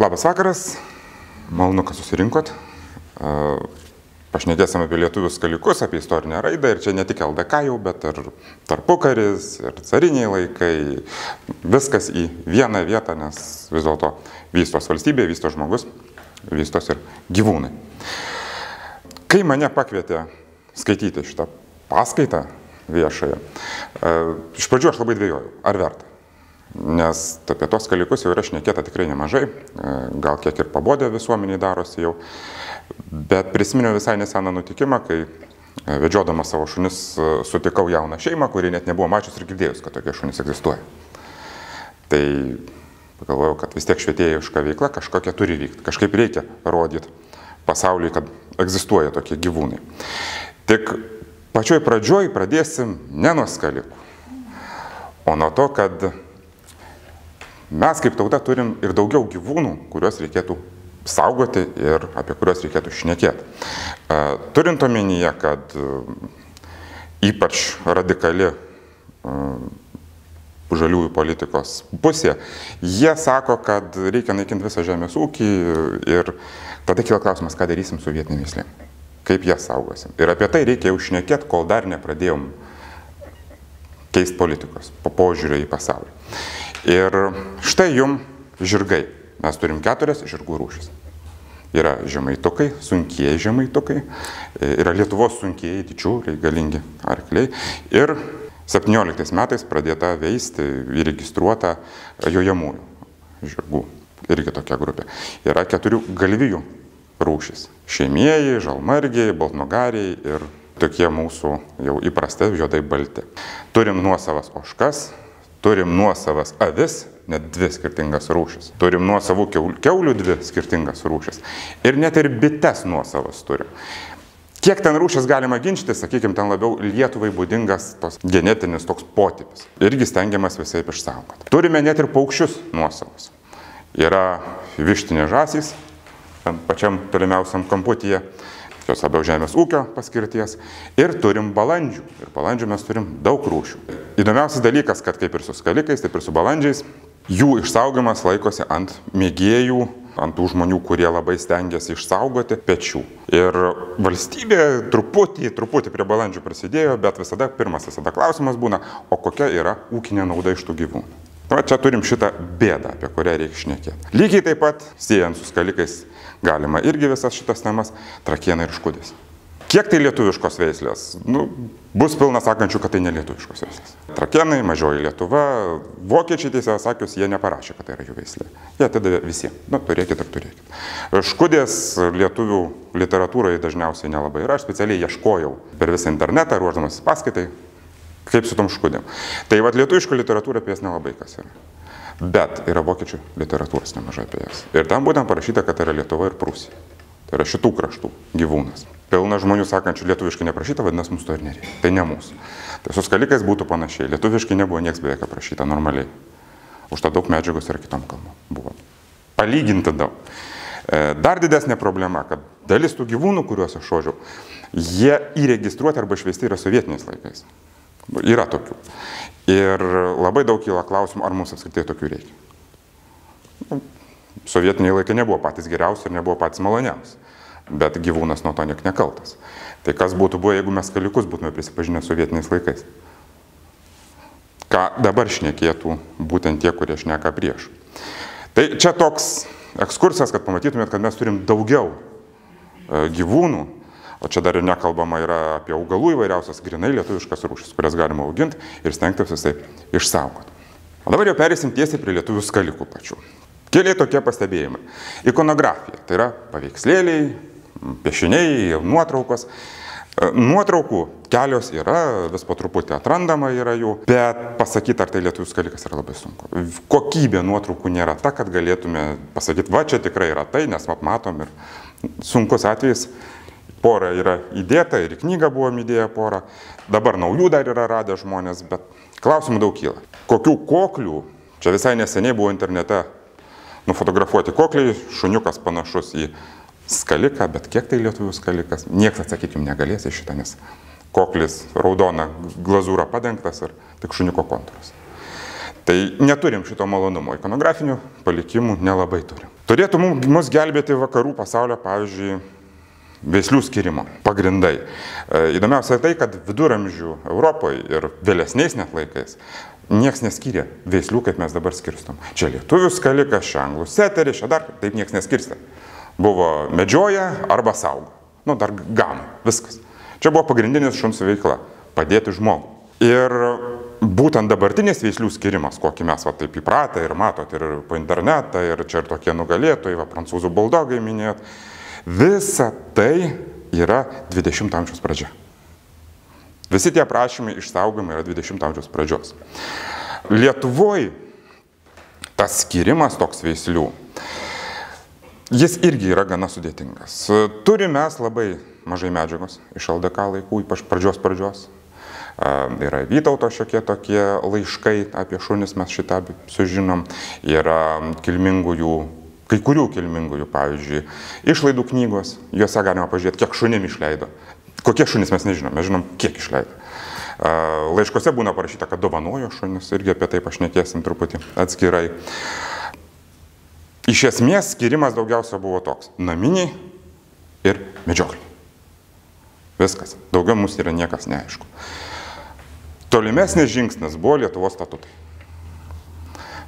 Labas vakaras, malonu, kad susirinkot. Pašnekėsime apie lietuvių skalikus, apie istorinę raidą ir čia ne tik LDK jau, bet ir tarpukaris, ir cariniai laikai. Viskas į vieną vietą, nes vis dėlto vystos valstybė, vystos žmogus, vystos ir gyvūnai. Kai mane pakvietė skaityti šitą paskaitą viešąją, iš pradžių aš labai dvejojau, ar verta. Nes apie tos skalikus jau yra šnekėta tikrai nemažai, gal kiek ir pabodė visuomeniai darosi jau, bet prisiminiau visai neseną nutikimą, kai vedžiodamas savo šunis sutikau jauną šeimą, kuri net nebuvo mačius ir girdėjus, kad tokie šunys egzistuoja. Tai pagalvojau, kad vis tiek švietėjiška veikla kažkokia turi vykti, kažkaip reikia rodyti pasauliui, kad egzistuoja tokie gyvūnai. Tik pačioj pradžioj pradėsim ne nuo skalikų, o nuo to, kad mes kaip tauta turim ir daugiau gyvūnų, kuriuos reikėtų saugoti ir apie kuriuos reikėtų šnekėti. Turint omenyje, kad ypač radikali žaliųjų politikos pusė, jie sako, kad reikia naikinti visą žemės ūkį ir tada kyla klausimas, ką darysim su vietinėm veislėm, kaip jas saugosim. Ir apie tai reikia jau šnekėti, kol dar nepradėjom keisti politikos, požiūrį į pasaulį. Ir štai jum žirgai. Mes turim 4 žirgų rūšis. Yra žemaitukai, sunkieji žemaitukai, yra Lietuvos sunkieji, didžiuliai, galingi arkliai. Ir 17 metais pradėta veisti įregistruota jojamųjų žirgų. Irgi tokia grupė. Yra 4 galvijų rūšis. Šeimieji, žalmargiai, baltnugariai ir tokie mūsų jau įprasti juodai balti. Turim nuosavas ožkas. Turim nuosavas avis, net 2 skirtingas rūšis. Turim nuosavų kiaulių 2 skirtingas rūšis. Ir net ir bites nuosavas turim. Kiek ten rūšis galima ginčyti, sakykime, ten labiau Lietuvai būdingas tos genetinis toks potipis. Irgi stengiamas visai išsaugoti. Turime net ir paukščius nuosavus. Yra vištinės žąsys, pačiam tolimiausiam kamputyje. Jos labiau žemės ūkio paskirties. Ir turim balandžių. Ir balandžių mes turim daug rūšių. Įdomiausias dalykas, kad kaip ir su skalikais, taip ir su balandžiais, jų išsaugojimas laikosi ant mėgėjų, ant tų žmonių, kurie labai stengiasi išsaugoti pečių. Ir valstybė truputį prie balandžių prasidėjo, bet pirmas klausimas būna, o kokia yra ūkinė nauda iš tų gyvūnų. Čia turim šitą bėdą, apie kurią reikia šnekėti. Lygiai taip pat, siejant su skalikais, galima irgi visas šitas temas, trakienai ir škudės. Kiek tai lietuviškos veislės? Bus pilna sakančių, kad tai ne lietuviškos veislės. Trakienai, mažoji Lietuva, vokiečiai tiesiog sakius, jie neparašė, kad tai yra jų veislė. Jie atidavė visiems. Turėkit ir turėkit. Škudės lietuvių literatūroje dažniausiai nelabai yra. Aš specialiai ieškojau per visą internetą, ruoždamasis paskaitai, kaip su tom škudėm. Tai lietuviško literatūra apie jas nelabai kas yra. Bet yra vokiečių literatūros nemažai apie jas. Ir tam būtent parašyta, kad tai yra Lietuva ir Prūsija. Tai yra šitų kraštų gyvūnas. Pilna žmonių sakančių lietuviškai neprašyta, vadinasi, mums to ir nereikia. Tai ne mūsų. Tai su skalikais būtų panašiai. Lietuviškai nebuvo nieks beveik aprašyta normaliai. Už tą daug medžiagos yra kitom kalbom. Buvo palyginti daug. Dar didesnė problema, kad dalis tų gyvūnų, kuriuos aš šodžiau, jie įregistruoti arba išveisti yra sovietiniais laikais. Yra tokių. Ir labai daug kyla klausimų, ar mums apskritai tokių reikia. Sovietiniai laikai nebuvo patys geriausi ir nebuvo patys maloniausi. Bet gyvūnas nuo to niek nekaltas. Tai kas būtų buvę, jeigu mes skalikus būtume prisipažinę sovietiniais laikais? Ką dabar šnekėtų būtent tie, kurie šneka prieš. Tai čia toks ekskursas, kad pamatytumėt, kad mes turim daugiau gyvūnų. O čia dar ir nekalbama yra apie augalų įvairiausias grinai lietuviškas rūšis, kurias galima auginti ir stengtis visai išsaugoti. O dabar jau perėsim tiesiai prie lietuvių skalikų pačių. Keli tokie pastebėjimai. Ikonografija, tai yra paveikslėliai, piešiniai, nuotraukos. Nuotraukų kelios yra, vis po truputį atrandama yra jų, bet pasakyti, ar tai lietuvių skalikas yra labai sunku. Kokybė nuotraukų nėra ta, kad galėtume pasakyti, va čia tikrai yra tai, nes matom ir sunkus atvejis. Pora yra įdėta ir į knygą buvom įdėję porą. Dabar naujų dar yra radę žmonės, bet klausimų daug kyla. Kokių koklių, čia visai neseniai buvo internete nufotografuoti kokliai, šuniukas panašus į skaliką, bet kiek tai lietuvių skalikas? Niekas atsakyti jums negalės į šitą, nes koklis raudona glazūra padengtas ir tik šuniuko kontūras. Tai neturim šito malonumo, ikonografinių palikimų nelabai turim. Turėtų mus gelbėti vakarų pasaulio, pavyzdžiui, veislių skirimo pagrindai. Įdomiausia tai, kad viduramžių Europoje ir vėlesniais net laikais nieks neskyrė veislių, kaip mes dabar skirstom. Čia lietuvių skalikas, čia anglų seteris, čia dar taip nieks neskirstė. Buvo medžioja arba saugo. Nu, dar gano, viskas. Čia buvo pagrindinis šuns veikla - padėti žmogų. Ir būtent dabartinis veislių skirimas, kokį mes va, taip įpratę ir matot ir po internetą, ir čia ir tokie nugalėtojai, va, prancūzų buldogai minėt, visa tai yra 20 amžiaus pradžia. Visi tie prašymai išsaugojimai yra 20 amžiaus pradžios. Lietuvoje tas skirimas toks veislių, jis irgi yra gana sudėtingas. Turime mes labai mažai medžiagos iš LDK laikų, ypač pradžios. Yra Vytauto šiokie tokie laiškai apie šunis, mes šitą sužinom. Yra kilmingųjų, kai kurių kilmingųjų, pavyzdžiui, išlaidų knygos, juose galima pažiūrėti, kiek šunim išleido. Kokie šunys mes nežinom, mes žinom, kiek išleido. Laiškose būna parašyta, kad dovanojo šunis, irgi apie tai pašnekėsim truputį atskirai. Iš esmės skirimas daugiausia buvo toks - naminiai ir medžiokliai. Viskas. Daugiau mums yra niekas neaišku. Tolimesnis žingsnis buvo Lietuvos statutai.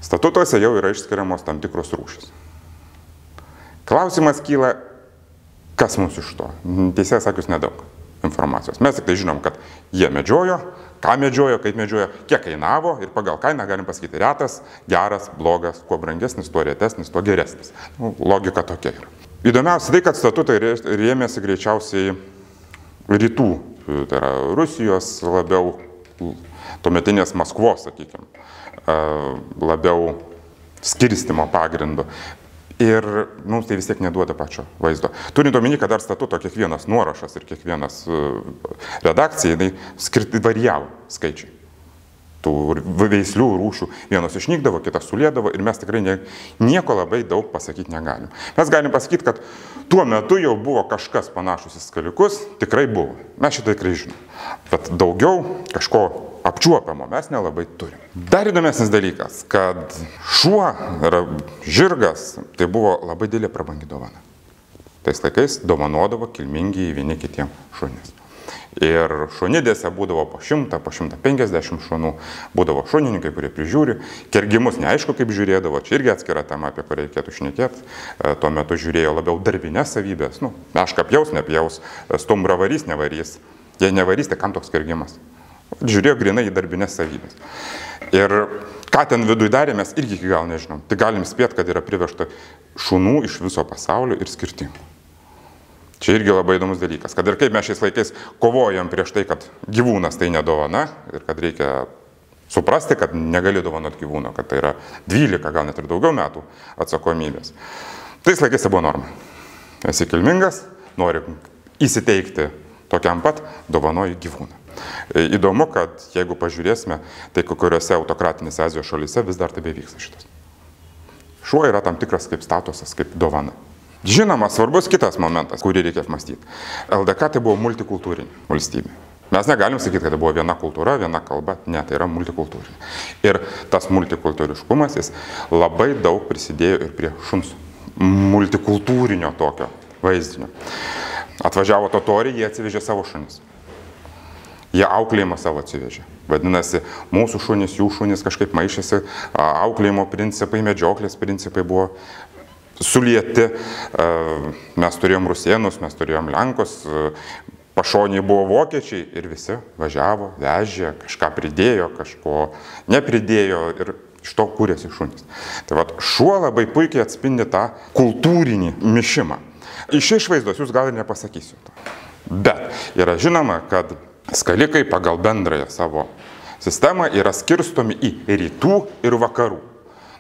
Statutuose jau yra išskiriamos tam tikros rūšys. Klausimas kyla, kas mums iš to? Teisėjas sakius nedaug informacijos. Mes tik tai žinom, kad jie medžiojo, ką medžiojo, kaip medžiojo, kiek kainavo ir pagal kainą galim pasakyti retas, geras, blogas, kuo brangesnis, tuo retesnis, tuo geresnis. Logika tokia yra. Įdomiausia tai, kad statutai rėmėsi greičiausiai rytų, tai yra Rusijos labiau, tuometinės Maskvos, sakykime, labiau skirstimo pagrindu. Ir mums tai vis tiek neduoda pačio vaizdo. Turint omeny, kad dar statuto kiekvienas nuorašas ir kiekvienas redakcija, tai varijavo skaičiai. Tų veislių rūšių vienos išnykdavo, kitas sulėdavo ir mes tikrai nieko labai daug pasakyti negalim. Mes galim pasakyti, kad tuo metu jau buvo kažkas panašus į skalikus, tikrai buvo. Mes šitą tikrai žinom. Bet daugiau kažko apčiuopiamo mes nelabai turim. Dar įdomesnis dalykas, kad šuo yra žirgas, tai buvo labai didelė prabangi dovana. Tais laikais dovanodavo kilmingi vieni kitiem šunis. Ir šunidėse būdavo po 100, po 150 šunų, būdavo šunininkai, kurie prižiūri. Kergimus neaišku, kaip žiūrėdavo, čia irgi atskira tema, apie kurią reikėtų šnekėti. Tuo metu žiūrėjo labiau darbinės savybės. Mešką pjaus, nepjaus, stumbrą varys, nevarys. Jei nevarys, tai kam toks kergimas? Žiūrėjo grinai į darbinės savybės. Ir ką ten viduje darė, mes irgi iki gal nežinom. Tai galim spėti, kad yra privežta šunų iš viso pasaulio ir skirtingų. Čia irgi labai įdomus dalykas, kad ir kaip mes šiais laikais kovojam prieš tai, kad gyvūnas tai nedovana ir kad reikia suprasti, kad negali dovanot gyvūno, kad tai yra 12, gal net ir daugiau metų atsakomybės. Tais laikais tai buvo norma. Esi kilmingas, nori įsiteikti tokiam pat, dovanoji gyvūną. Įdomu, kad jeigu pažiūrėsime, tai kuriuose autokratinėse Azijos šalyse vis dar taip vyksta šitas. Šuo yra tam tikras kaip statusas, kaip dovana. Žinoma, svarbus kitas momentas, kurį reikia apmastyti. LDK tai buvo multikultūrinė valstybė. Mes negalim sakyti, kad tai buvo viena kultūra, viena kalba. Ne, tai yra multikultūrinė. Ir tas multikultūriškumas, jis labai daug prisidėjo ir prie šuns multikultūrinio tokio vaizdinio. Atvažiavo totoriai, jie atsivežė savo šunis. Jie auklėjimą savo atsivežė. Vadinasi, mūsų šunys, jų šunys kažkaip maišėsi, auklėjimo principai, medžioklės principai buvo sulieti. Mes turėjom rusėnus, mes turėjom lenkus, pašoniai buvo vokiečiai ir visi važiavo, vežė, kažką pridėjo, kažko nepridėjo ir iš to kūrėsi šunys. Tai vat, šuo labai puikiai atspindi tą kultūrinį mišimą. Iš išvaizdos jūs gal ir nepasakysiu to. Bet yra žinoma, kad skalikai pagal bendrąją savo sistemą yra skirstomi į rytų ir vakarų.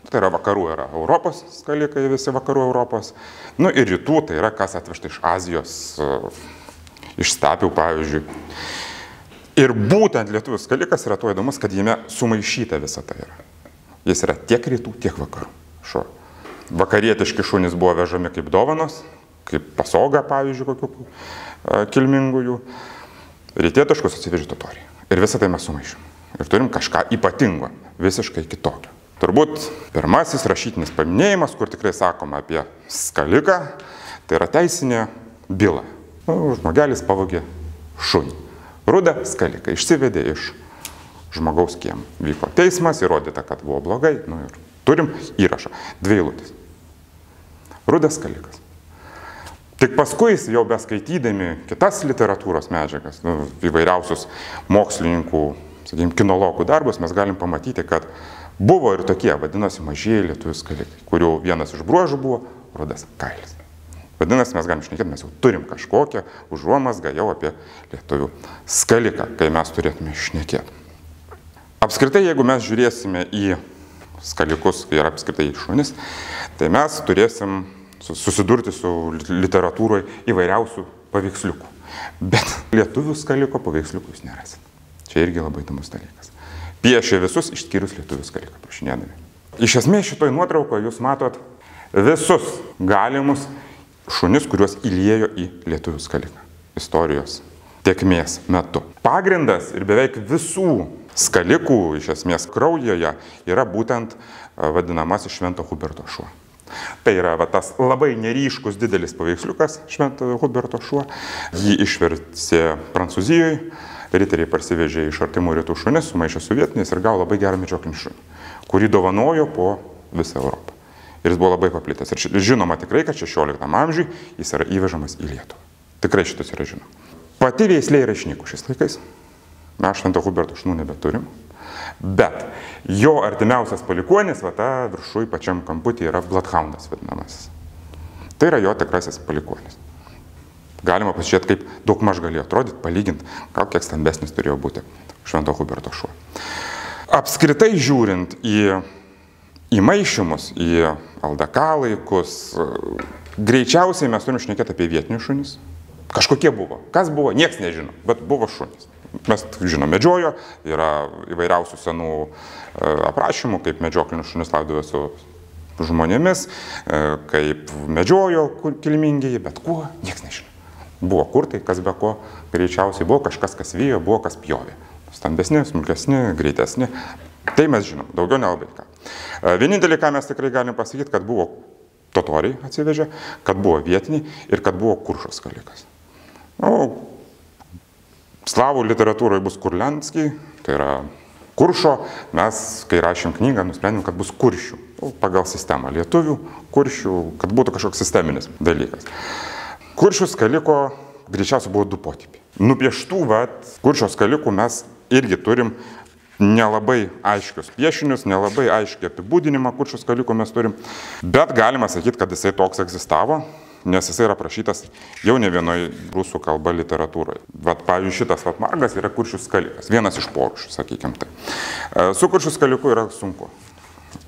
Tai yra vakarų yra Europos skalikai, visi vakarų Europos. Ir rytų tai yra kas atvežta iš Azijos, iš stepių pavyzdžiui. Ir būtent lietuvių skalikas yra tuo įdomus, kad jame sumaišyta visa tai yra. Jis yra tiek rytų, tiek vakarų šuo. Vakarietiški šunys buvo vežami kaip dovanos, kaip pasoga pavyzdžiui kokių kilmingųjų. Rytietiškus atsivežė totoriai. Ir visą tai mes sumaišėm. Ir turim kažką ypatingo, visiškai kitokio. Turbūt pirmasis rašytinis paminėjimas, kur tikrai sakoma apie skaliką, tai yra teisinė byla. Žmogelis pavogė šunį. Rudą skaliką išsivedė iš žmogaus kiemą. Vyko teismas, įrodyta, kad buvo blogai. Ir turim įrašą. 2 eilutės. Rudas skalikas. Tik paskui jau beskaitydami kitas literatūros medžiagas, įvairiausius mokslininkų, sakykime, kinologų darbus, mes galim pamatyti, kad buvo ir tokie, vadinosi, mažieji lietuvių skalikai, kurių vienas iš bruožų buvo rudas kailis. Vadinasi, mes galim šnekėti, mes jau turim kažkokią užuomazgą jau apie lietuvių skaliką, kai mes turėtume šnekėti. Apskritai, jeigu mes žiūrėsime į skalikus ir apskritai į šunis, tai mes turėsim susidurti su literatūroje įvairiausių paveiksliukų. Bet lietuvių skaliko paveiksliukų jūs nerasit. Čia irgi labai įdomus dalykas. Piešia visus išskyrus lietuvių skaliką prašinėdami. Iš esmės šitoj nuotraukoje jūs matot visus galimus šunis, kuriuos įliejo į lietuvių skaliką istorijos tėkmės metu. Pagrindas ir beveik visų skalikų iš esmės kraujoje yra būtent vadinamasis Švento Huberto šuo. Tai yra tas labai neryškus didelis paveiksliukas Švento Huberto šuo. Jį išvertė Prancūzijoje, riteriai parsivežė iš artimų rytų šunis, sumaišė su vietiniais ir gavo labai gerą medžioklinį šunį, kurį dovanojo po visą Europą. Ir jis buvo labai paplitęs. Ir žinoma tikrai, kad 16 amžiui jis yra įvežamas į Lietuvą. Tikrai šitas yra žinoma. Pati veislė yra išnykus šiais laikais. Mes Švento Huberto šunų nebeturim. Bet jo artimiausias palikuonis, ta viršui pačiam kamputį yra Bloodhoundas vadinamasis. Tai yra jo tikrasis palikuonis. Galima pasižiūrėti, kaip daugmaž galėjo atrodyti, palyginti, gal kiek stambesnis turėjo būti Švento Huberto šuo. Apskritai žiūrint į maišymus, į LDK laikus, greičiausiai mes turim šnekėti apie vietinius šunis. Kažkokie buvo. Kas buvo, nieks nežino, bet buvo šunys. Mes žinom, medžiojo, yra įvairiausių senų aprašymų, kaip medžioklinius šunis laidovė su žmonėmis, kaip medžiojo kilmingieji, bet kuo, nieks nežino. Buvo kurtai, kas be ko, greičiausiai buvo kažkas, kas vijo, buvo kas pjovė. Stambesni, smulkesni, greitesni. Tai mes žinom, daugiau nelabai ką. Vienintelį, ką mes tikrai galim pasakyti, kad buvo totoriai atsivežę, kad buvo vietiniai ir kad buvo Kuršo skalikas. Slavų literatūroje bus Kurlianskiai, tai yra Kuršo. Mes, kai rašėm knygą, nusprendėm, kad bus kuršių. Pagal sistemą lietuvių, kuršių, kad būtų kažkoks sisteminis dalykas. Kuršių skaliko greičiausiai buvo 2 potipiai. Nupieštų, Kuršio skalikų mes irgi turim nelabai aiškius piešinius, nelabai aiškiai apibūdinimą Kuršio skaliko mes turim. Bet galima sakyti, kad jisai toks egzistavo, nes jisai yra aprašytas jau ne vienoje rusų kalba literatūroje. Pavyzdžiui, šitas margas yra Kuršių skalikas, vienas iš porušių, sakykime tai. Su Kuršių skaliku yra sunku.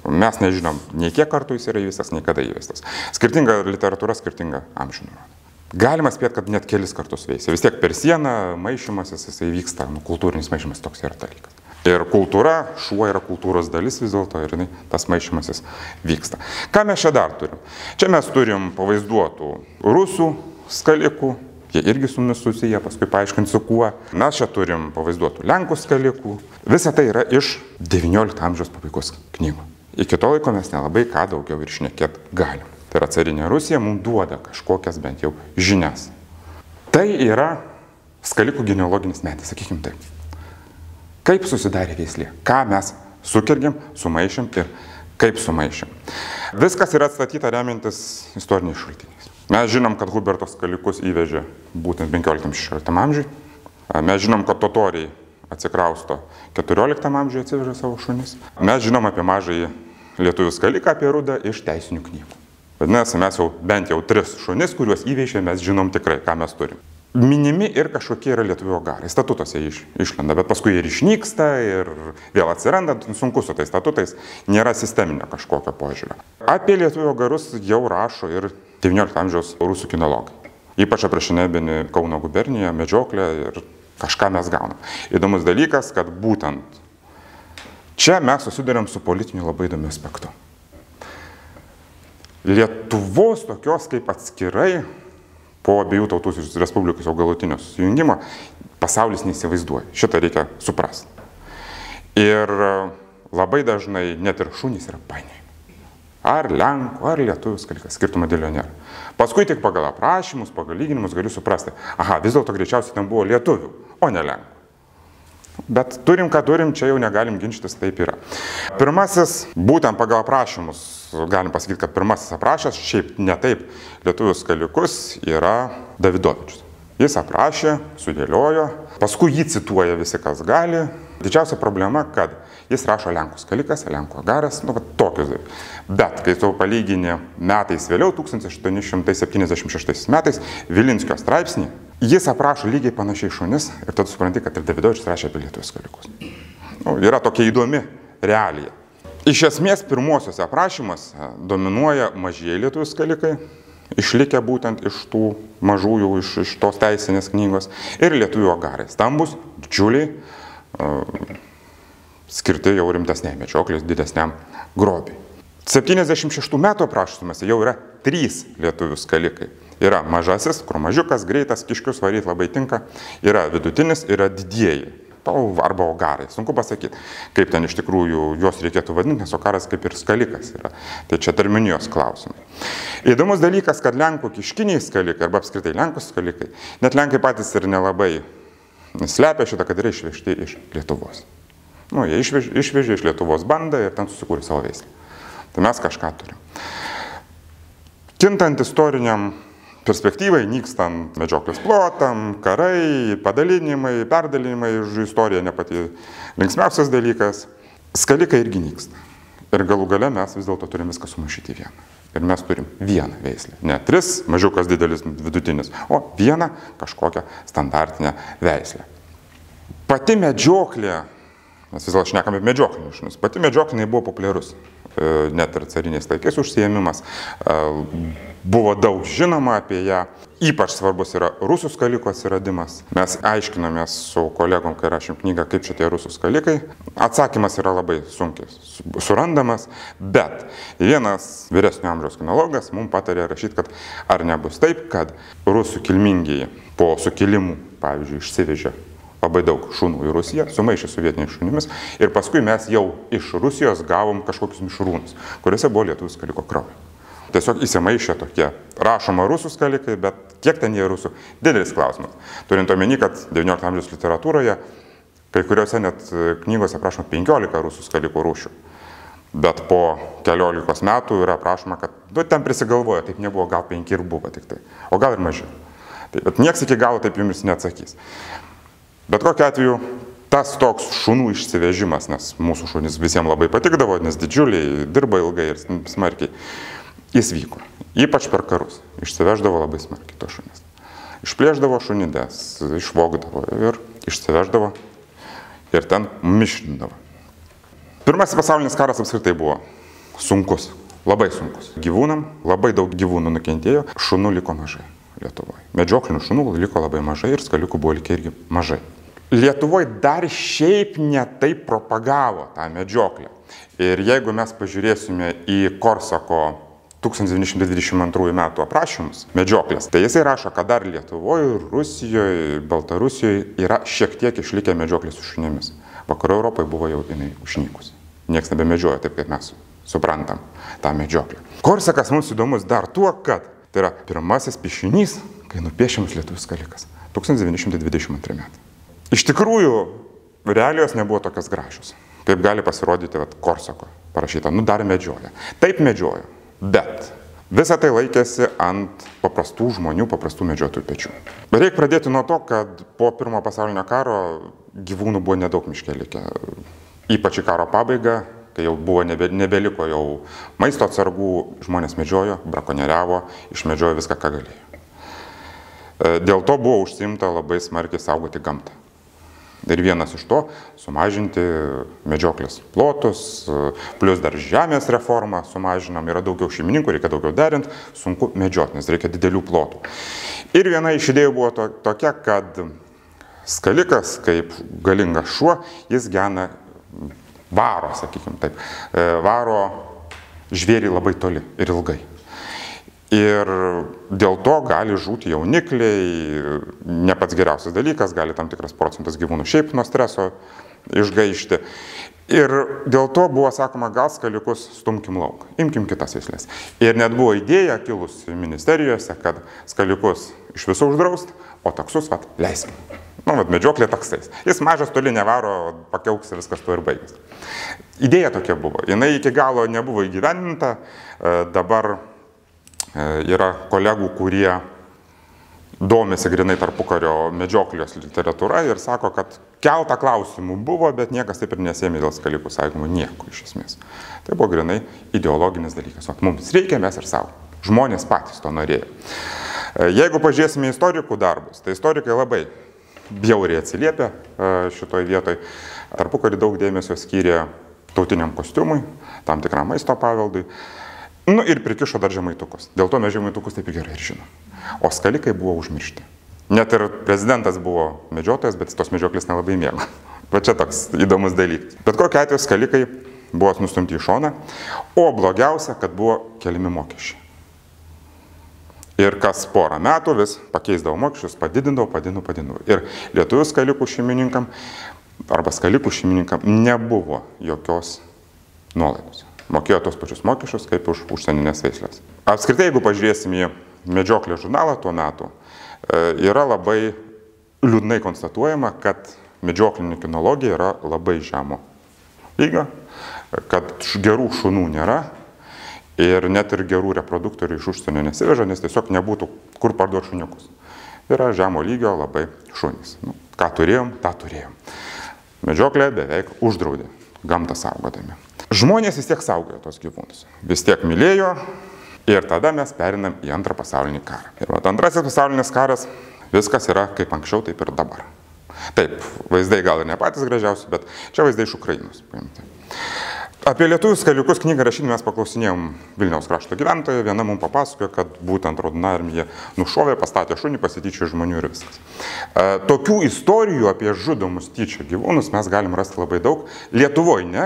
Mes nežinom, nei kiek kartų jis yra įvestas, nei kada įvestas. Skirtinga literatūra, skirtinga amžių nurodo. Galima spėti, kad net kelis kartus veisia. Vis tiek per sieną maišymasis, jisai vyksta, kultūrinis maišymas toks yra dalykas. Ir kultūra, šuo yra kultūros dalis vis dėlto ir tas maišymasis vyksta. Ką mes čia dar turim? Čia mes turim pavaizduotų rusų skalikų, jie irgi su mumis susiję, paskui paaiškinsiu kuo. Mes čia turim pavaizduotų lenkų skalikų. Visa tai yra iš XIX amžiaus pabaigos knygų. Iki to laiko mes nelabai ką daugiau ir šnekėt galim. Tai yra carinė Rusija mums duoda kažkokias bent jau žinias. Tai yra skalikų genealoginis medis, sakykim taip. Kaip susidarė veislė, ką mes sukirgėm, sumaišėm ir kaip sumaišėm. Viskas yra atstatyta remiantis istoriniais šaltiniais. Mes žinom, kad Huberto skalikus įvežė būtent 15-16 amžiui. Mes žinom, kad totoriai atsikrausto 14 amžiuje atsivežė savo šunis. Mes žinom apie mažąjį lietuvių skaliką, apie rudą iš teisinių knygų. Vadinasi, mes jau bent jau 3 šunis, kuriuos įvežė, mes žinom tikrai, ką mes turim. Minimi ir kažkokie yra lietuvių agarai. Statutuose išlenda, bet paskui ir išnyksta ir vėl atsiranda, sunku su tais statutais, nėra sisteminio kažkokio požiūrio. Apie lietuvių agarus jau rašo ir XIX amžiaus rusų kinologai. Ypač aprašinėdami Kauno guberniją, medžioklę ir kažką mes gaunam. Įdomus dalykas, kad būtent čia mes susiduriam su politiniu labai įdomiu aspektu. Lietuvos tokios kaip atskirai po abiejų tautų respublikos jau galutinio susijungimo pasaulis neįsivaizduoja. Šitą reikia suprasti. Ir labai dažnai net ir šunys yra painiai. Ar lenkų, ar lietuvių skalikas, skirtumo dėlio nėra. Paskui tik pagal aprašymus, pagal lyginimus galiu suprasti, aha, vis dėlto greičiausiai ten buvo lietuvių, o ne lenkų. Bet turim, ką turim, čia jau negalim ginčytis, taip yra. Pirmasis, būtent pagal aprašymus, galim pasakyti, kad pirmasis aprašęs, šiaip ne taip, lietuvių skalikus yra Davidovičius. Jis aprašė, sudėliojo, paskui jį cituoja visi, kas gali. Didžiausia problema, kad jis rašo lenkų skalikas, lenkų agaras, tokius dalykus. Bet kai tu palygini metais vėliau, 1876 metais, Vilinskio straipsnį, jis aprašo lygiai panašiai šunis ir tada supranti, kad ir Davidovičius rašė apie lietuvių skalikus. Yra tokia įdomi realija. Iš esmės, pirmuosiuose aprašymuose dominuoja mažieji lietuvių skalikai, išlikę būtent iš tų mažųjų, iš tos teisinės knygos, ir lietuvių agarai. Stambus, didžiuliai, skirti jau rimtesniai medžioklės, didesniam grobiui. 76 metų aprašymuose jau yra 3 lietuvių skalikai. Yra mažasis, kur mažiukas, greitas, kiškius varyti labai tinka. Yra vidutinis, yra didieji. Arba ogarai. Sunku pasakyti, kaip ten iš tikrųjų juos reikėtų vadinti, nes ogaras kaip ir skalikas yra. Tai čia terminijos klausimai. Įdomus dalykas, kad lenkų kiškiniai skalikai, arba apskritai lenkų skalikai, net lenkai patys ir nelabai slepia šitą, kad yra išvežti iš Lietuvos. Jie išvežė iš Lietuvos bandą ir ten susikūrė savo veislę. Tai mes kažką turim. Kintant istoriniam perspektyvai, nykstant medžioklės plotam, karai, padalinimai, perdalinimai, istorija ne pati linksmiausias dalykas, skalikai irgi nyksta. Ir galų gale mes vis dėlto turim viską sumaišyti į vieną. Ir mes turim vieną veislę. Ne 3, mažiukas, didelis, vidutinis, o vieną kažkokią standartinę veislę. Pati medžioklė, mes vis dėlto šnekam apie medžioklinius šunis, pati medžioklė buvo populiarus. Net ir cariniais laikais užsiėmimas, buvo daug žinoma apie ją, ypač svarbus yra rusų skalikų atsiradimas. Mes aiškinomės su kolegom, kai rašėm knygą, kaip čia tie rusų skalikai. Atsakymas yra labai sunkiai surandamas, bet vienas vyresnio amžiaus kinologas mums patarė rašyti, kad ar nebus taip, kad rusų kilmingieji po sukilimų, pavyzdžiui, išsivežė labai daug šunų į Rusiją, sumaišė su vietiniais šunimis ir paskui mes jau iš Rusijos gavom kažkokius mišrūnus, kuriuose buvo lietuvių skaliko kraujo. Tiesiog įsimaišė tokie rašoma rusų skalikai, bet kiek ten jie rusų? Didelis klausimas. Turint omeny, kad XIX amžiaus literatūroje kai kuriuose net knygose aprašoma 15 rusų skalikų rūšių. Bet po keliolikos metų yra aprašoma, kad ten prisigalvojo, taip nebuvo, gal 5 ir buvo tik tai, o gal ir mažiau. Bet nieks iki galo taip jums neatsakys. Bet kokiu atveju, tas toks šunų išsivežimas, nes mūsų šunys visiems labai patikdavo, nes didžiuliai, dirba ilgai ir smarkiai, jis vyko. Ypač per karus. Išsiveždavo labai smarkiai to šunis. Išplėždavo šunides, išvogdavo ir išsiveždavo ir ten mišrindavo. Pirmasis pasaulinis karas apskritai buvo sunkus, labai sunkus. Gyvūnam labai daug gyvūnų nukentėjo, šunų liko mažai Lietuvoje. Medžioklinių šunų liko labai mažai ir skalikų buvo likę irgi mažai. Lietuvoje dar šiaip netaip propagavo tą medžioklę. Ir jeigu mes pažiūrėsime į Korsako 1922 metų aprašymus medžioklės, tai jisai rašo, kad dar Lietuvoje, Rusijoje, Baltarusijoje yra šiek tiek išlikę medžioklės su šunimis. Vakarų Europoje buvo jau jinai užnykusi. Niekas nebemedžioja taip, kaip mes suprantam tą medžioklę. Korsakas mums įdomus dar tuo, kad tai yra pirmasis piešinys, kai nupiešiamas lietuvių skalikas. 1922 metai. Iš tikrųjų, realijos nebuvo tokios gražios, kaip gali pasirodyti Korsako parašyta, dar medžioja. Taip medžiojo, bet visą tai laikėsi ant paprastų žmonių, paprastų medžiotojų pečių. Reikia pradėti nuo to, kad po Pirmojo pasaulinio karo gyvūnų buvo nedaug miške likę. Ypač į karo pabaigą, kai jau buvo nebeliko jau maisto atsargų, žmonės medžiojo, brakonieriavo, išmedžiojo viską, ką galėjo. Dėl to buvo užsiimta labai smarkiai saugoti gamtą. Ir vienas iš to sumažinti medžioklės plotus, plus dar žemės reformą sumažinam, yra daugiau šeimininkų, reikia daugiau derinti, sunku medžioti, nes reikia didelių plotų. Ir viena iš idėjų buvo tokia, kad skalikas, kaip galingas šuo, jis gena varo, sakykime taip, varo žvėrį labai toli ir ilgai. Ir dėl to gali žūti jaunikliai, ne pats geriausias dalykas, gali tam tikras procentas gyvūnų šiaip nuo streso išgaišti. Ir dėl to buvo sakoma, gal skaliukus stumkim lauk, imkim kitas veislės. Ir net buvo idėja kilusi ministerijose, kad skaliukus iš viso uždraust, o taksus leisim. Medžioklė taksais. Jis mažas toli nevaro, pakiauks ir viskas tuo ir baigės. Idėja tokia buvo. Jinai iki galo nebuvo įgyvendinta. Dabar yra kolegų, kurie domisi grinai tarpukario medžioklės literatūra ir sako, kad keltą klausimų buvo, bet niekas taip ir nesėmė dėl skalikų saugojimo nieko iš esmės. Tai buvo grinai ideologinis dalykas. Mums reikia, mes ir savo. Žmonės patys to norėjo. Jeigu pažiūrėsime istorikų darbus, tai istorikai labai bjauriai atsiliepia šitoj vietoj. Tarpukarį daug dėmesio skyrė tautiniam kostiumui, tam tikram maisto paveldui. Ir prikišo dar žemaitukus. Dėl to mes žemaitukus taip gerai ir žinom. O skalikai buvo užmiršti. Net ir prezidentas buvo medžiotojas, bet tos medžioklės nelabai mėgo. Va čia toks įdomus dalykas. Bet kokiu atveju skalikai buvo nustumti į šoną, o blogiausia, kad buvo keliami mokesčiai. Ir kas porą metų vis pakeisdavo mokesčius, padidindavo. Ir lietuvių skalikų šeimininkam arba skalikų šeimininkam nebuvo jokios nuolaidos. Mokėjo tos pačius mokesčius kaip už užsieninės veislės. Apskritai, jeigu pažiūrėsim į medžioklės žurnalą tuo metu, yra labai liūdnai konstatuojama, kad medžioklinė kinologija yra labai žemo lygio, kad gerų šunų nėra. Ir net ir gerų reproduktorių iš užsienio nesiveža, nes tiesiog nebūtų kur parduoti šuniukus. Yra žemo lygio labai šunys. Ką turėjom, tą turėjom. Medžioklė beveik uždraudė, gamtą saugodami. Žmonės vis tiek saugojo tos gyvūnus. Vis tiek mylėjo ir tada mes perinam į Antrą pasaulinį karą. Ir Antrasis pasaulinis karas, viskas yra kaip anksčiau, taip ir dabar. Taip, vaizdai gal ir ne patys gražiausi, bet čia vaizdai iš Ukrainos paimti. Apie lietuvių skaliukus knygą rašydami mes paklausinėjom Vilniaus krašto gyventojų. Viena mums papasakojo, kad būtent Raudona armija nušovė, pastatė šunį, pasityčiojo žmonių ir viskas. Tokių istorijų apie žudomus tyčia gyvūnus mes galim rasti labai daug. Lietuvoje ne,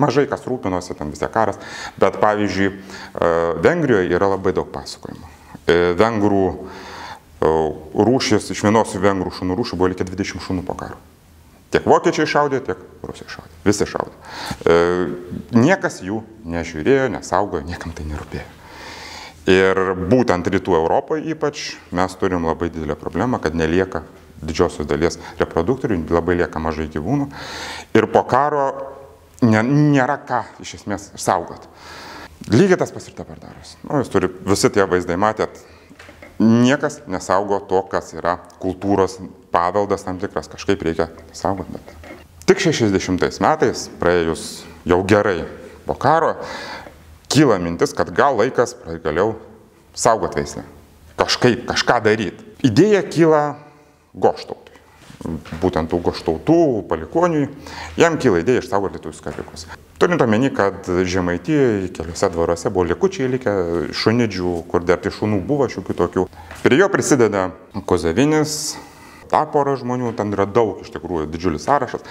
mažai kas rūpinosi, tam vis tiek karas, bet pavyzdžiui, Vengrijoje yra labai daug pasakojimų. Vengrų rūšis, iš vienos vengrų šunų rūšių buvo likę 20 šunų po karo. Tiek vokiečiai šaudė, tiek rusai šaudė. Visi šaudė. Niekas jų nežiūrėjo, nesaugojo, niekam tai nerūpėjo. Ir būtent rytų Europoje ypač mes turim labai didelę problemą, kad nelieka didžiosios dalies reproduktorių, labai lieka mažai gyvūnų. Ir po karo nėra ką iš esmės saugoti. Lygiai tas pas ir dabar darosi. Jūs turi visi tie vaizdai matėt. Niekas nesaugo to, kas yra kultūros paveldas tam tikras, kažkaip reikia saugoti. Bet tik 60 metais, praėjus jau gerai po karo, kyla mintis, kad gal laikas pagaliau saugoti veislę. Kažkaip, kažką daryti. Idėja kyla Goštautui. Būtent tų Goštautų palikuoniui, jam kyla idėja išsaugoti lietuvių skalikus. Turint omeny, kad Žemaitijoje keliuose dvaruose buvo likučiai likę šunidžių, kur dar tai šunų buvo šiokių tokių. Prie jo prisideda Kozavinis, ta pora žmonių, ten yra daug, iš tikrųjų, didžiulis sąrašas.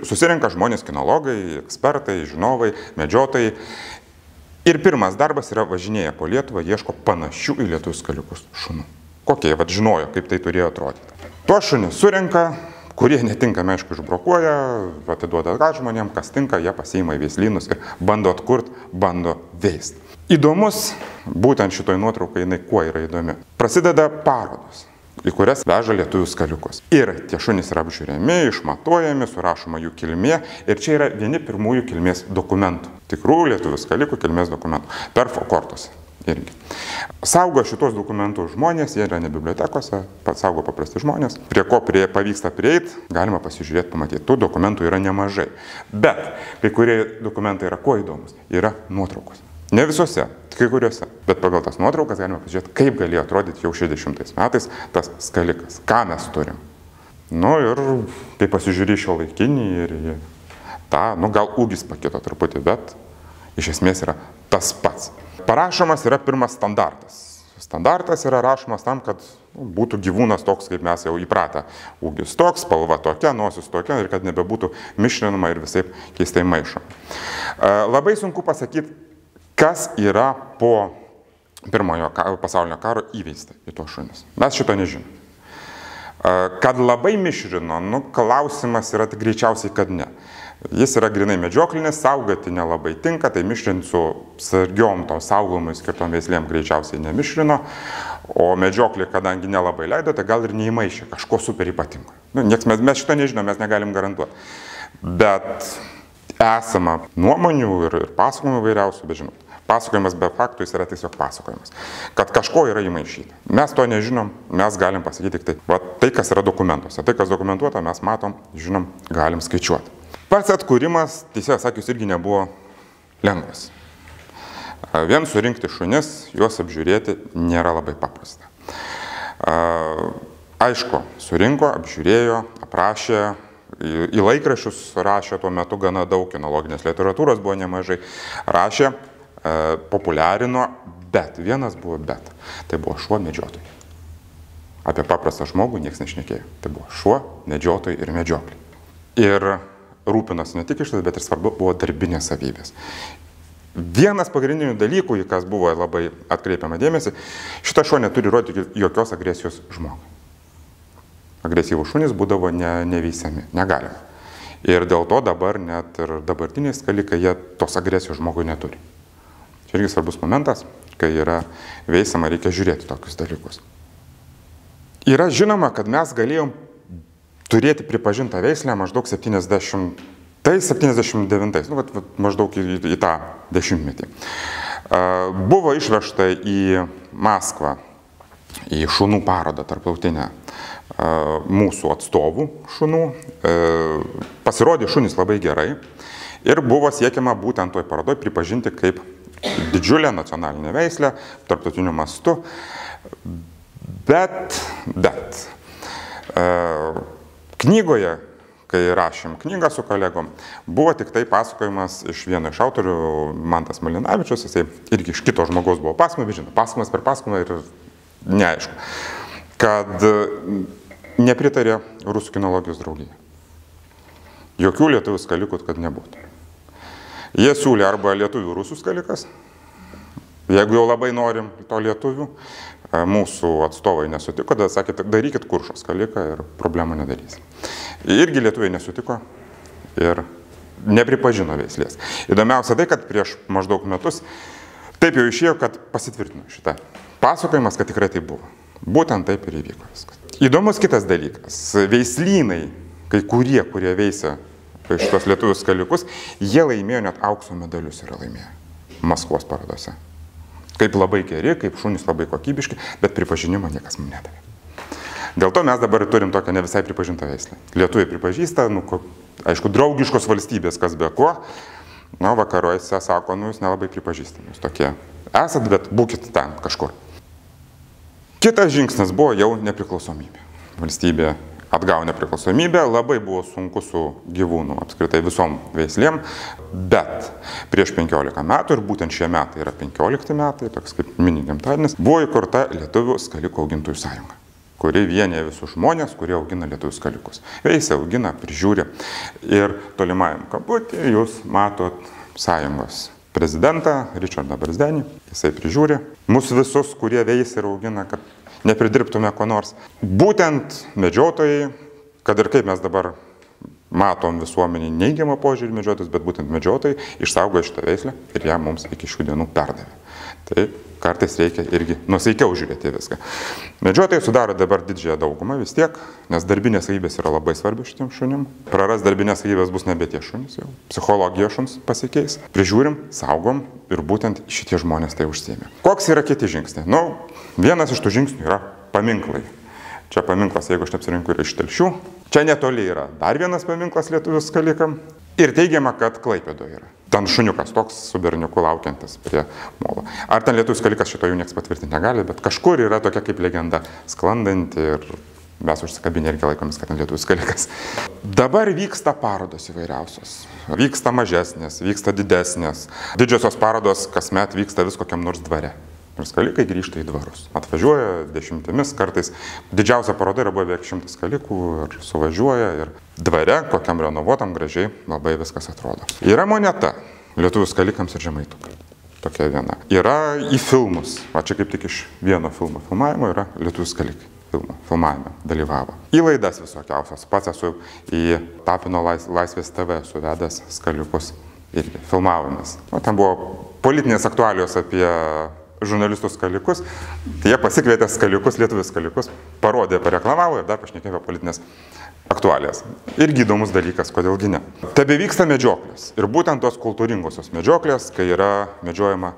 Susirenka žmonės, kinologai, ekspertai, žinovai, medžiotojai. Ir pirmas darbas yra važinėję po Lietuvą, ieško panašių į lietuvių skaliukus šunų. Kokie, žinojo, kaip tai turėjo atrodyti. Tuos šunis surenka, kurie netinkami, aišku, išbrokuoja, atiduoda atgal žmonėm, kas tinka, jie pasiima į veislynus ir bando atkurti, bando veisti. Įdomus, būtent šitoj nuotraukai, jinai kuo yra įdomi. Prasideda parodos, į kurias veža lietuvių skaliukus. Ir tie šunys yra apžiūrėmi, išmatuojami, surašoma jų kilmė. Ir čia yra vieni pirmųjų kilmės dokumentų. Tikrų lietuvių skalikų kilmės dokumentų. Perfo kortos. Irgi. Saugo šitos dokumentus žmonės, jie yra ne bibliotekose, saugo paprasti žmonės. Prie ko pavyksta prieiti, galima pasižiūrėti, pamatyti. Tų dokumentų yra nemažai. Bet kai kurie dokumentai yra kuo įdomus, yra nuotraukos. Ne visose, kai kuriuose. Bet pagal tas nuotraukas galima pasižiūrėti, kaip galėjo atrodyti jau 60 metais tas skalikas. Ką mes turim. Ir kai pasižiūrė šio laikinį ir tą, gal ūgis pakito truputį, bet iš esmės yra tas pats. Parašomas yra pirmas standartas. Standartas yra rašomas tam, kad būtų gyvūnas toks, kaip mes jau įpratę. Ūgis toks, spalva tokia, nosis tokia ir kad nebebūtų mišrinama ir visaip keistai maišoma. Labai sunku pasakyti, kas yra po Pirmojo pasaulinio karo įveista į tuos šunis. Mes šito nežinom. Kad labai mišrino, klausimas yra greičiausiai, kad ne. Jis yra grinai medžioklinis, saugoti nelabai tinka, tai mišrint su sargiom to saugomui skirtom veislėm greičiausiai nemišrino, o medžioklė, kadangi nelabai leido, tai gal ir neįmaišė kažko super ypatingo. Mes šito nežinom, mes negalim garantuoti. Bet esama nuomonių ir pasakojimų vairiausių, bet žinot, pasakojimas be faktų jis yra tiesiog pasakojimas, kad kažko yra įmaišyta. Mes to nežinom, mes galim pasakyti tik tai, kas yra dokumentuose. Tai, kas dokumentuota, mes matom, žinom, galim skaičiuoti. Pats atkūrimas, tiesiog sakius, irgi nebuvo lengvas. Vien surinkti šunis, juos apžiūrėti nėra labai paprasta. Aišku, surinko, apžiūrėjo, aprašė, į laikraščius rašė tuo metu gana daug, kinologinės literatūros buvo nemažai, rašė, populiarino, bet vienas buvo bet. Tai buvo šuo medžiotojai. Apie paprastą žmogų niekas nešnekėjo. Tai buvo šuo, medžiotojai ir medžioklė. Ir rūpinosi ne tik išlaidas, bet ir svarbu buvo darbinės savybės. Vienas pagrindinių dalykų, į kas buvo labai atkreipiama dėmesį, šitas šuo neturi rodyti jokios agresijos žmogui. Agresyvūs šunys būdavo neveisiami, negalima. Ir dėl to dabar net ir dabartiniai skalikai, jie tos agresijos žmogui neturi. Čia irgi svarbus momentas, kai yra veisama, reikia žiūrėti tokius dalykus. Yra žinoma, kad mes galėjom turėti pripažintą veislę maždaug 79, maždaug į tą dešimtmetį. Buvo išvežta į Maskvą, į šunų parodą tarptautinę mūsų atstovų šunų. Pasirodė šunys labai gerai ir buvo siekiama būtent toj parodoj pripažinti kaip didžiulę nacionalinę veislę tarptautiniu mastu. Bet knygoje, kai rašėm knygą su kolegom, buvo tik tai pasakojimas iš vieno iš autorių, Mantas Malinavičius, jisai irgi iš kito žmogaus buvo pasakojimas, žinot, pasakojimas per pasakojimą ir neaišku, kad nepritarė Rusų kinologijos draugija. Jokių lietuvių skalikų, kad nebūtų. Jie siūlė arba lietuvių rusų skalikas, jeigu jau labai norim to lietuvių, mūsų atstovai nesutiko, tada sakė, darykit kuršo skaliką ir problemų nedarys. Irgi lietuviai nesutiko ir nepripažino veislės. Įdomiausia tai, kad prieš maždaug metus taip jau išėjo, kad pasitvirtino šitą pasakojimas, kad tikrai tai buvo. Būtent taip ir įvyko viskas. Įdomus kitas dalykas. Veislynai, kai kurie veisė šitos lietuvių skalikus, jie laimėjo net aukso medalius yra laimėję Maskvos parodose. Kaip labai geri, kaip šunys labai kokybiški, bet pripažinimo niekas mums nedavė. Dėl to mes dabar turim tokią ne visai pripažintą veislę. Lietuviai pripažįsta, aišku, draugiškos valstybės, kas be ko, vakaruose sako, jūs nelabai pripažįstami, jūs tokie esat, bet būkit ten kažkur. Kitas žingsnis buvo jau nepriklausomybė. Valstybė atgavo nepriklausomybę, labai buvo sunku su gyvūnų, apskritai visom veislėm, bet prieš 15 metų, ir būtent šie metai yra 15 metai, toks kaip mini gimtadienis, buvo įkurta Lietuvių skalikų augintojų sąjunga, kuri vienija visus žmonės, kurie augina lietuvių skalikus. Veisia, augina, prižiūri. Ir tolimajam kamputyje jūs matot sąjungos prezidentą Ričardą Barzdenį, jisai prižiūri mus visus, kurie veisia ir augina, kad nepridirbtume ko nors. Būtent medžiotojai, kad ir kaip mes dabar matom visuomenį neigiamą požiūrį medžiotojus, bet būtent medžiotojai išsaugojo šitą veislę ir ją mums iki šių dienų perdavė. Tai kartais reikia irgi nusaikiau žiūrėti viską. Medžiotojai sudaro dabar didžiąją daugumą vis tiek, nes darbinės savybės yra labai svarbi šitiem šunim. Praras darbinės savybės bus nebe tie šunys jau. Psichologija šuns pasikeis. Prižiūrim, saugom ir būtent šitie žmonės tai užsiėmė. Koks yra kiti žingsniai? Vienas iš tų žingsnių yra paminklai. Čia paminklas, jeigu aš neapsirinku, yra iš Telšių. Čia netoli yra dar vienas paminklas lietuvių skalikam. Ir teigiama, kad Klaipėdoje yra. Ten šuniukas toks su berniuku laukiantis prie molo. Ar ten lietuvių skalikas, šito jau niekas patvirtinti negali, bet kažkur yra tokia kaip legenda sklandanti ir mes užsikabinę irgi laikomės, kad ten lietuvių skalikas. Dabar vyksta parodos įvairiausios. Vyksta mažesnės, vyksta didesnės. Didžiosios parodos kasmet vyksta vis kokiam nors dvare. Ir skalikai grįžta į dvarus. Atvažiuoja dešimtimis, kartais didžiausia paroda yra beveik 100 skalikų ir suvažiuoja ir dvare, kokiam renovuotam gražiai, labai viskas atrodo. Yra moneta lietuvių skalikams ir žemaitukams. Tokia viena. Yra į filmus, čia kaip tik iš vieno filmo filmavimo yra lietuvių skalikai. filmavime dalyvavo. Į laidas visokiausios. Pats esu į Tapino Laisvės TV suvedęs Skaliukus irgi filmavomės. O ten buvo politinės aktualijos apie žurnalistus Skaliukus. Tai jie pasikvietė Skaliukus, lietuvius Skaliukus, parodė, pareklamavo ir dar pašnekėjo apie politinės aktualijas. Irgi įdomus dalykas, kodėlgi ne. Tebevyksta medžioklės. Ir būtent tos kultūringosios medžioklės, kai yra medžiojama,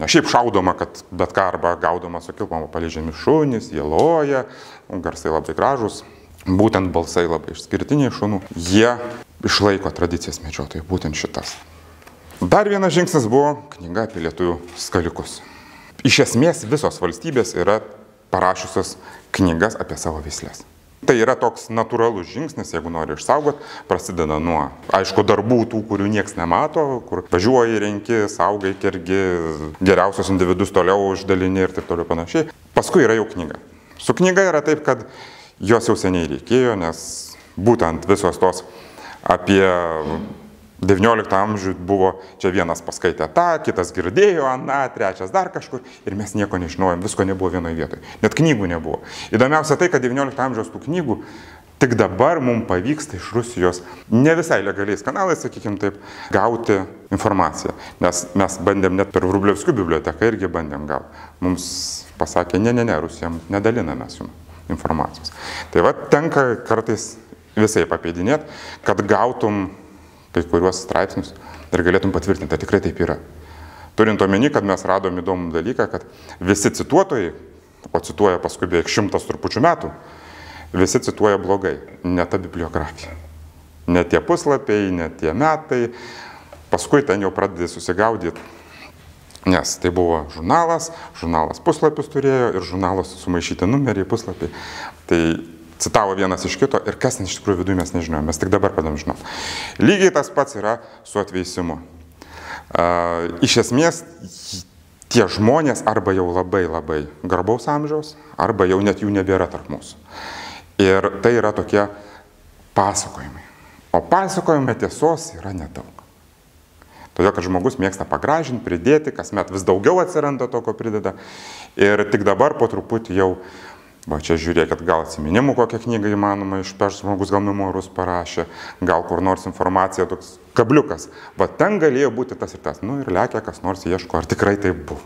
ne šiaip šaudoma, kad bet ką arba gaudoma su kilpom, paleidžiami šunys, jie loja, garsai labai gražus, būtent balsai labai išskirtiniai šunų. Jie išlaiko tradicijas medžiotojai, būtent šitas. Dar vienas žingsnis buvo knyga apie lietuvių Skaliukus. Iš esmės visos valstybės yra parašiusios knygas apie savo veislės. Tai yra toks natūralus žingsnis, jeigu nori išsaugot, prasideda nuo, aišku, darbų tų, kurių nieks nemato, kur važiuoji, renki, saugai, kergi, geriausios individus toliau uždalini ir taip toliau panašiai. Paskui yra jau knyga. Su knyga yra taip, kad jos jau seniai reikėjo, nes būtent visos tos apie 19 amžių buvo, čia vienas paskaitė tą, kitas girdėjo, aną, trečias dar kažkur ir mes nieko nežinojom, visko nebuvo vienoje vietoje, net knygų nebuvo. Įdomiausia tai, kad 19 amžiaus tų knygų tik dabar mums pavyksta iš Rusijos ne visai legaliais kanalais, sakykime taip, gauti informaciją, nes mes bandėm net per Vrublevskių biblioteką irgi bandėm gauti. Mums pasakė, ne, Rusijam nedaliname jums informacijos. Tai va, tenka kartais visai papeidinėti, kad gautum kai kuriuos straipsnius ir galėtum patvirtinti, tai tikrai taip yra. Turint omeny, kad mes radom įdomų dalyką, kad visi cituotojai, o cituoja paskui beveik 100 trupučių metų, visi cituoja blogai, ne ta bibliografija. Ne tie puslapiai, ne tie metai, paskui ten jau pradedi susigaudyti, nes tai buvo žurnalas puslapius turėjo ir žurnalas sumaišyti numeriai, puslapiai. Tai citavo vienas iš kito ir kas ten iš tikrųjų viduje mes nežinojome, mes tik dabar padam žinom. Lygiai tas pats yra su atveisimu. Iš esmės, tie žmonės arba jau labai garbaus amžiaus, arba jau net jų nebėra tarp mūsų. Ir tai yra tokie pasakojimai. O pasakojime tiesos yra nedaug. Todėl, kad žmogus mėgsta pagražinti, pridėti, kasmet vis daugiau atsiranda to, ko prideda. Ir tik dabar po truputį jau va čia žiūrėkit, gal atsiminimų kokią knygą įmanoma išpešti, žmogus gal memorus parašė, gal kur nors informacija, toks kabliukas. Va ten galėjo būti tas ir tas. Nu ir lekia, kas nors ieško, ar tikrai taip buvo.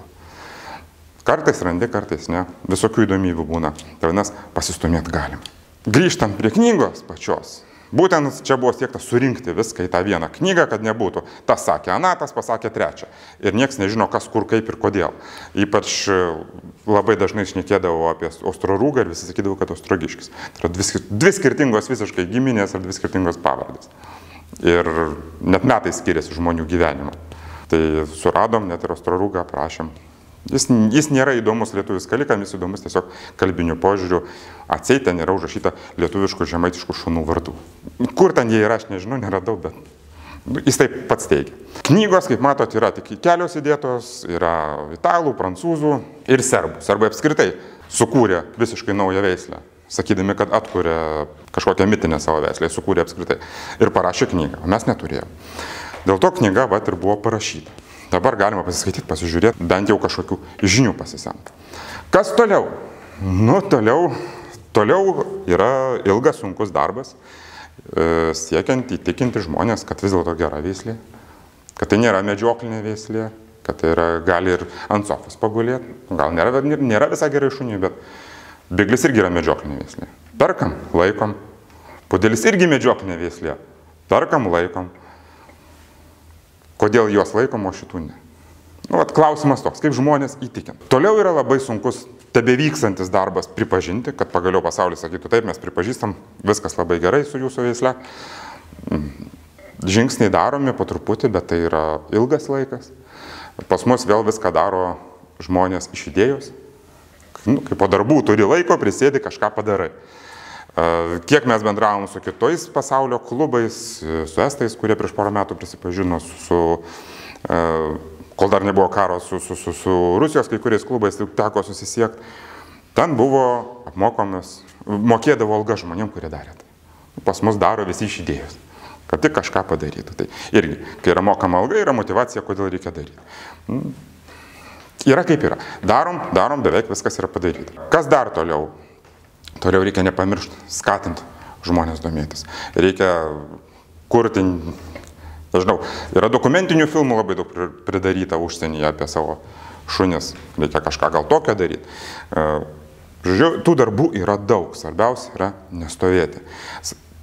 Kartais randi, kartais ne. Visokių įdomybių būna. Tai vienas pasistumėti galim. Grįžtant prie knygos pačios. Būtent čia buvo siekta surinkti viską į tą vieną knygą, kad nebūtų. Tas sakė aną, tas pasakė trečią. Ir nieks nežino, kas, kur, kaip ir kodėl. Ypač labai dažnai šnekėdavo apie Ostrorūgą ir visi sakydavo, kad Ostrogiškis. Tai yra dvi skirtingos visiškai giminės ar dvi skirtingos pavardės. Ir net metai skiriasi žmonių gyvenimo. Tai suradom, net ir Ostrorūgą aprašėm. Jis nėra įdomus lietuvių skalikam, jis įdomus tiesiog kalbinių požiūrių. Atseit ten yra užrašyta lietuviškų žemaitiškų šunų vardų. Kur ten jie yra, aš nežinau, neradau, bet jis taip pats teigia. Knygos, kaip matot, yra tik kelios įdėtos, yra italų, prancūzų ir serbų. Serbai apskritai sukūrė visiškai naują veislę, sakydami, kad atkūrė kažkokią mitinę savo veislę, sukūrė apskritai ir parašė knygą, o mes neturėjome. Dėl to knyga vat ir buvo parašyta. Dabar galima pasiskaityti, pasižiūrėti, bent jau kažkokių žinių pasisemti. Kas toliau? Nu, toliau yra ilgas, sunkus darbas, siekiant įtikinti žmonės, kad vis dėlto gera veislė, kad tai nėra medžioklinė veislė, kad tai yra, gali ir ant sofos pagulėti, gal nėra visai gerai šuniui, bet biglis irgi yra medžioklinė veislė. Perkam, laikom, pudelis irgi medžioklinė veislė, perkam, laikom. Kodėl juos laikom, o šitų ne? Nu, vat klausimas toks, kaip žmonės įtikint. Toliau yra labai sunkus tebevykstantis darbas pripažinti, kad pagaliau pasaulis sakytų, taip, mes pripažįstam, viskas labai gerai su jūsų veisle. Žingsniai daromi po truputį, bet tai yra ilgas laikas. Pas mus vėl viską daro žmonės iš idėjos. Nu, kai po darbų turi laiko, prisėdi, kažką padarai. Kiek mes bendravom su kitais pasaulio klubais, su estais, kurie prieš porą metų prisipažino, kol dar nebuvo karo, su Rusijos kai kuriais klubais teko susisiekti. Ten buvo apmokomis, mokėdavo alga žmonėm, kurie darė tai. Pas mus daro visi iš idėjos, kad tik kažką padarytų. Tai irgi, kai yra mokama alga, yra motyvacija, kodėl reikia daryti. Yra kaip yra. Darom, beveik viskas yra padaryta. Kas dar toliau? Toliau reikia nepamiršti, skatinti žmonės domėtis. Reikia kurti, nežinau, yra dokumentinių filmų labai daug pridaryta užsienyje apie savo šunis. Reikia kažką gal tokio daryti. Žodžiu, tų darbų yra daug. Svarbiausia yra nestovėti.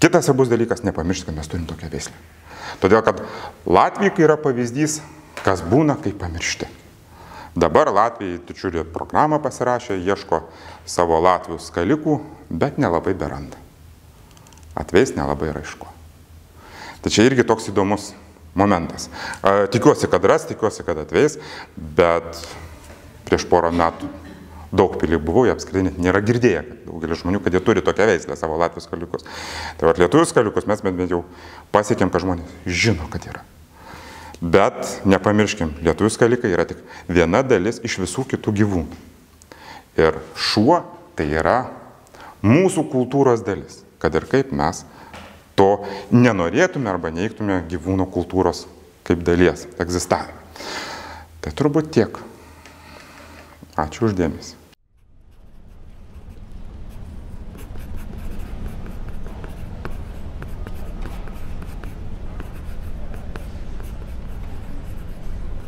Kitas svarbus dalykas, nepamiršti, kad mes turim tokią veislę. Todėl, kad Latvija yra pavyzdys, kas būna, kai pamiršti. Dabar Latvijai didžiulį programą pasirašė, ieško savo latvių skalikų, bet nelabai beranda. Atveis nelabai raiško. Tai čia irgi toks įdomus momentas. Tikiuosi, kad ras, tikiuosi, kad atveis, bet prieš porą metų daug pilį buvau, jie apskritai net nėra girdėję, kad daugelis žmonių, kad jie turi tokią veislę savo latvių skaliukus. Tai vat lietuvių skaliukus mes bent jau pasiekėm, kad žmonės žino, kad yra. Bet nepamirškim, lietuvių skalikai yra tik viena dalis iš visų kitų gyvūnų. Ir šuo tai yra mūsų kultūros dalis, kad ir kaip mes to nenorėtume arba neigtume gyvūno kultūros kaip dalies egzistavimą. Tai turbūt tiek. Ačiū už dėmesį.